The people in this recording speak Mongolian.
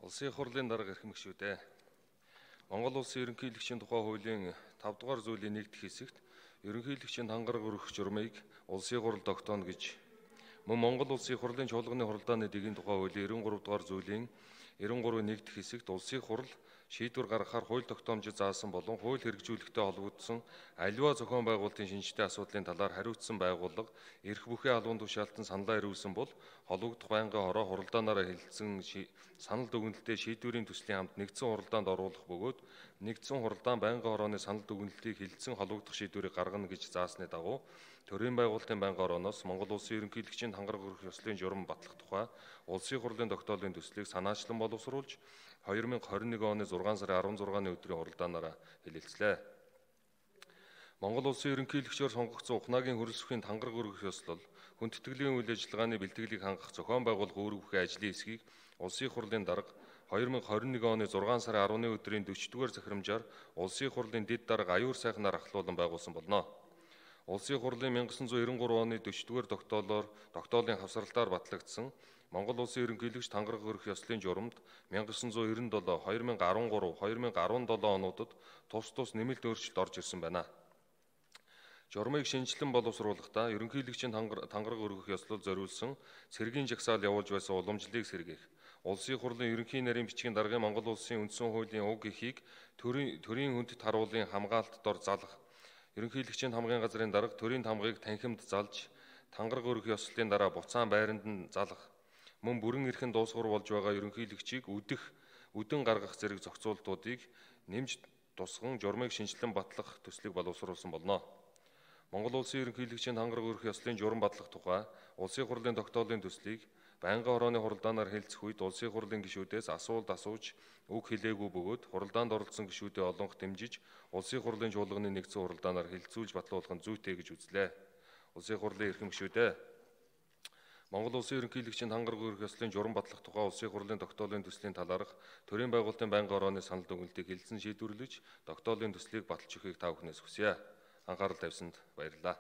Улсын хурлын дарга эрхэм гишүүдээ. Монгол улсын ерөнхийлөгчийн тухай хуулийн 5 дугаар зүйлийн 1-р хэсэгт ерөнхийлөгчийн хангараг өргөх журмыг улсын хурл тогтооно гэж мөн Монгол улсын хурлын чуулганы хуралдааны дэгийн тухай хуулийн 93 дугаар зүйлийн 93-ийн 1-р хэсэгт улсын хурл шийдвэр гаргахаар хууль тогтоомжид заасан болон хууль хэрэгжүүлэхтэй холбогдсон аливаа зохион байгуулалтын шинжтэй асуудлын талаар хариуцсан байгууллага эрх бүхий албан тушаалтан саналаа ирүүлсэн бол холбогдох байнгын хороо хуралдаанаараа хэлэлцсэн санал дүгнэлтээ шийдвэрийн төслийн хамт нэгдсэн хуралдаанд оруулах бөгөөд нэгдсэн хуралдаан байнгын хорооны санал дүгнэлтийг хэлэлцэн холбогдох шийдвэрийг гаргана гэж заасны дагуу төрийн байгуулалтын байнгын хорооноос Монгол улсын ерөнхийлөгчийн хангараг өргөх ёслолын журам батлах тухай улсын хурлын тогтоолын төслийг санаачлан боловсруулж 2021 оны 6 сарын 16-ны өдрийн хуралдаанаараа хэлэлцлээ. Монгол улсын ерөнхийлөгчөөр сонгогдсон ухнаагийн хөрөлсөхийн хангараг өргөх ёслол хүндэтгэлийн үйл ажиллагааны бэлтгэлийг хангах зохион байгуулах үүрэг бүхий ажлын эсхийг улсын хурлын дарга 2021 оны 6 сарын 10-ны өдрийн 40-р захирамжаар улсын хурлын дэд дарга аюур сайхнаар ахлуулан байгуулсан болно. Улсын хурлын 1993 оны 40-р тогтоолын хавсралтаар батлагдсан Монгол улсын ерөнхийлөгч хангараг өргөх ёслолын журамд 1997, 2013, 2017 онуудад тус нэмэлт өөрчлөлт орж ирсэн байна. Журмыг шинжилэн боловсруулахдаа ерөнхийлөгчийн хангараг өргөх ёслол зориулсан цэргийн жагсаал явуулж байсан уламжлалыг сэргээх, улсын хурлын ерөнхий нарийн бичгийн даргын Монгол улсын үндсэн хуулийн уг эхийг төрийн хүндэт харуулын хамгаалалт дор залах, ерөнхийлөгчийн хамгийн газрын дарга төрийн тамгыг танхимд залж, хангараг өргөх ёслолын дараа буцаан байранд нь залах, мөн бүрэн эрхэнд дуусгар болж байгаа ерөнхийлөгчийг үдэн гаргах зэрэг зохицуултуудыг нэмж тусган журмыг шинжилэн батлах төслийг боловсруулсан болно. Монгол улсын ерөнхийлөгчийн хангараг өргөх ёслолын журам батлах тухай улсын хурлын тогтоолын төслийг байнгын хорооны хуралдаанаар хэлцэх үед улсын хурлын гишүүдээс асуулт асууж үг хэлээгүй бөгөөд хуралдаанд оролцсон гишүүдэд олонх дэмжиж улсын хурлын чуулганы нэгдсэн хуралдаанаар хэлэлцүүлж батлуулах нь зүйтэй гэж үзлээ. Улсын хурлын эрхэм гишүүдээ. Монгол улсын ерөнхийлөгчийн хангараг өргөх ёслолын журам батлах тухай улсын хурлын тогтоолын төслийн талаарх төрийн байгуулалтын байнгын хорооны санал дүгнэлтийг хэлэлцэн шийдвэрлэж тогтоолын төслийг баталж өгөхийг та бүхнээс хүсье. Анхаарал тавьсанд баярлалаа.